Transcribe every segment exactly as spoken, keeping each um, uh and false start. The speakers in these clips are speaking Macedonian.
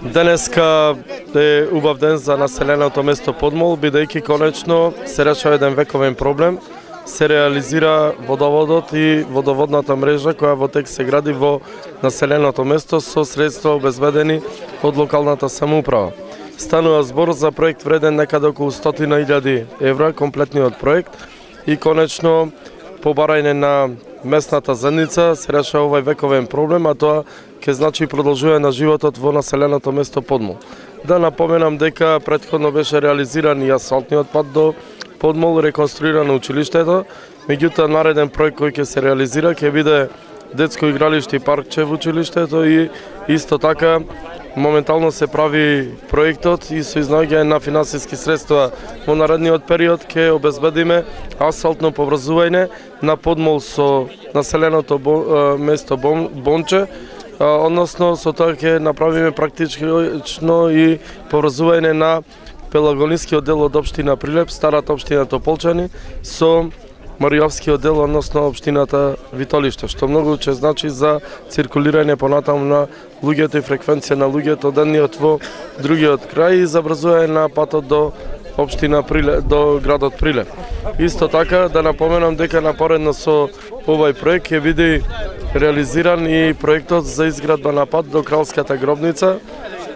Денеска е убав ден за населеното место Подмол, бидејќи конечно се решава еден вековен проблем. Се реализира водоводот и водоводната мрежа која во тек се гради во населеното место со средства обезбедени од локалната самоуправа. Станува збор за проект вреден некаде околу стотина илјади евра, комплетниот проект, и конечно по барање на местната заедница се решава овај вековен проблем, а тоа ќе значи продолжување на животот во населеното место Подмол. Да напоменам дека претходно беше реализиран и асфалтниот пат до Подмол, реконструирано училиштето, меѓутоа нареден проект кој ќе се реализира ќе биде детско игралиште и паркче во училиштето, и исто така моментално се прави проектот и со изнаоѓање на финансиски средства во наредниот период ќе обезбедиме асфалтно поврзување на Подмол со населеното место Бонче, односно со тоа ќе направиме практично и поврзување на Пелагонискиот дел од општина Прилеп, старата општина Тополчани, со Маријовскиот дел, односно општината Витолиште, што многу ќе значи за циркулирање понатаму на луѓето и фреквенција на луѓето од едниот во другиот крај и забрзување на патот до општина Прилеп, до градот Прилеп. Исто така да напоменам дека напоредно со овај проект ќе биде реализиран и проектот за изградба на пат до Кралската гробница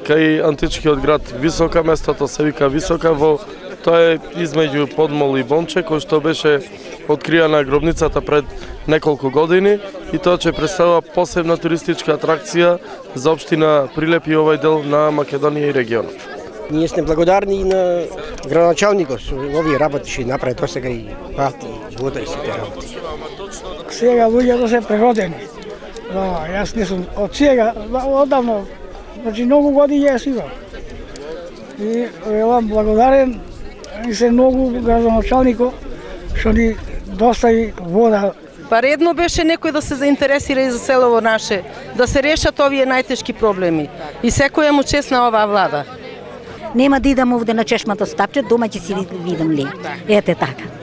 кај античкиот град Висока, местото се вика Висока, во тоа е измеѓу Подмол и Бонче, кој што беше откриена гробницата пред неколку години, и тоа ќе представува посебна туристичка атракција за општина Прилеп и овај дел на Македонија и регионот. Ние сме благодарни и на градоначалникот со овие работи што направи тоа сега и пати, вода и сите работи. Сега луѓето се прегодени. Да, јас не сум од сега, одавно, значи многу години јас имам. И велам благодарен и се многу градоначалникот што ни достави вода. Па редно беше некој да се заинтересира и за селово наше, да се решат овие најтешки проблеми. И секоја му чест на оваа влада. Нема да идам овде на чешмата стапче, дома ќе си видам ли. Ете така.